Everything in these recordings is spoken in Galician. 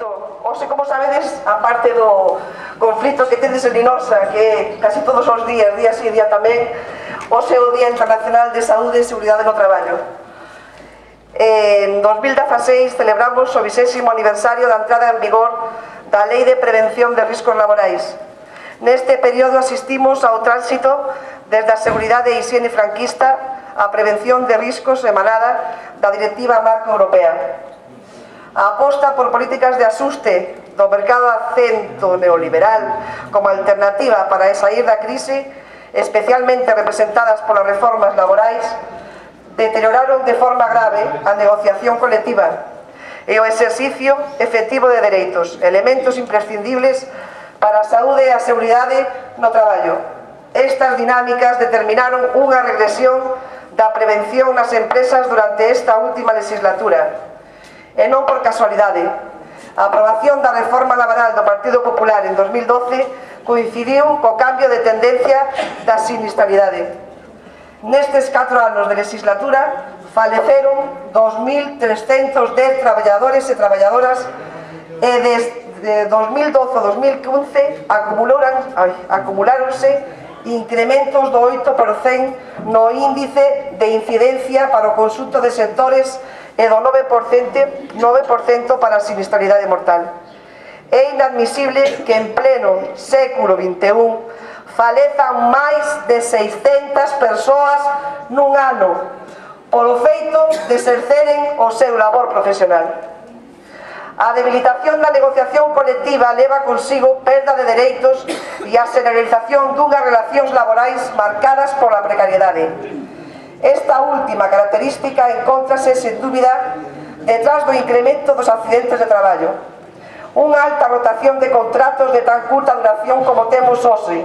conflito, hoxe, como sabedes, a parte do conflito que tedes en Linosa, que casi todos os días, día sí, día tamén, hoxe é o Día Internacional de Saúde e Seguridade no Traballo. En 2016 celebramos o 20º aniversario da entrada en vigor da Lei de Prevención de Riscos Laborais. Neste período asistimos ao tránsito desde a seguridade e higiene franquista á prevención de riscos emanada da Directiva Marco Europea. A aposta por políticas de asuste do mercado acento neoliberal como alternativa para saír da crise, especialmente representadas polas reformas laborais, deterioraron de forma grave a negociación colectiva e o exercicio efectivo de dereitos, elementos imprescindibles para a saúde e a seguridade no traballo. Estas dinámicas determinaron unha regresión da prevención nas empresas durante esta última legislatura. E non por casualidade. A aprobación da reforma laboral do Partido Popular en 2012 coincidiu co cambio de tendencia da sinistralidade. Nestes 4 anos de legislatura faleceron 2.310 traballadores e traballadoras e desde 2012 a 2015 acumuláronse incrementos do 8% no índice de incidencia para o conxunto de sectores e do 9% para a sinistralidade mortal. É inadmisible que en pleno século XXI falezan máis de 600 persoas nun ano polo feito de exerceren o seu labor profesional. A debilitación da negociación colectiva leva consigo perda de dereitos e a generalización dunhas relacións laborais marcadas pola precariedade. Esta última característica encóntrase, sen dúbida, detrás do incremento dos accidentes de traballo. Unha alta rotación de contratos de tan curta duración como temos hoxe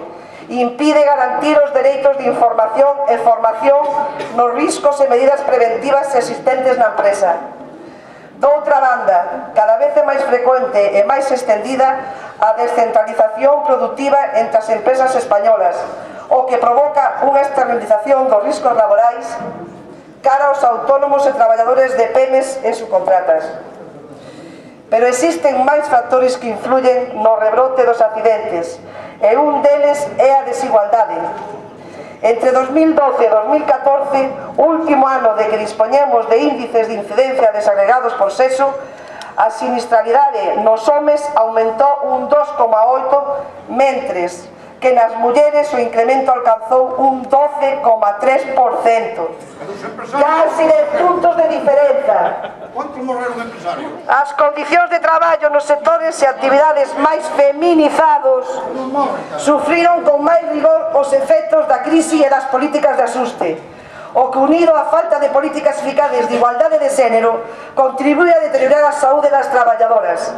impide garantir os dereitos de información e formación nos riscos e medidas preventivas existentes na empresa. Doutra banda, cada vez é máis frecuente e máis extendida a descentralización produtiva entre as empresas españolas, o que provoca unha externalización dos riscos laborais cara aos autónomos e traballadores de PEMES e subcontratas. Pero existen máis factores que influyen no rebrote dos accidentes, e un deles é a desigualdade. Entre 2012 e 2014, último ano de que dispoñemos de índices de incidencia desagregados por sexo, a sinistralidade nos homes aumentou un 2,8, mentres que nas mulleres o incremento alcanzou un 12,3%. Casi 10 puntos de diferenza. Quantos morreron empresarios? As condicións de traballo nos sectores e actividades máis feminizados sufriron con máis rigor os efectos da crise e das políticas de asuste, o que, unido á falta de políticas eficaces de igualdade de xénero, contribúe a deteriorar a saúde das traballadoras.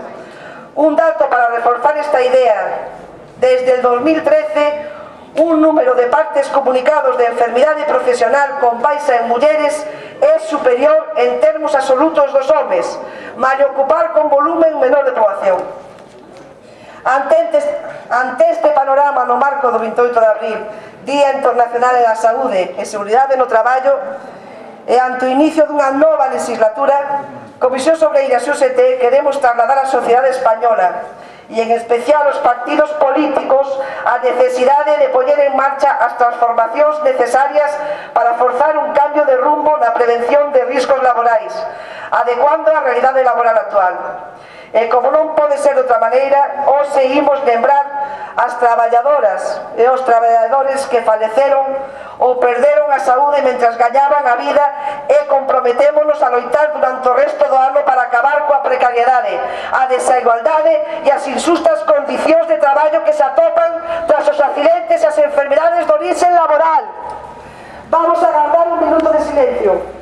Un dato para reforzar esta idea: desde el 2013, un número de partes comunicados de enfermidade profesional con baixa en mulleres é superior en termos absolutos dos homes, mal ocupar con volumen menor de poboación. Ante este panorama, no marco do 28 de abril, Día Internacional da Saúde e Seguridade no Traballo, e ante o inicio dunha nova legislatura, Comisión Obreiras e UGT queremos trasladar á sociedade española e en especial os partidos políticos a necesidade de poñer en marcha as transformacións necesarias para forzar un cambio de rumbo na prevención de riscos laborais, adecuando a realidade laboral actual. E como non pode ser de outra maneira, hoxe imos lembrar as traballadoras e os traballadores que faleceron ou perderon a saúde mentras gañaban a vida, e comprometémonos a loitar durante o resto do ano para acabar coa precariedade, a desigualdade e as injustas condicións de traballo que se atopan tras os accidentes e as enfermidades de orixe laboral. Vamos a guardar un minuto de silencio.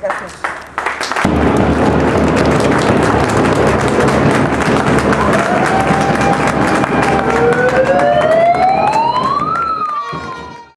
Gracias.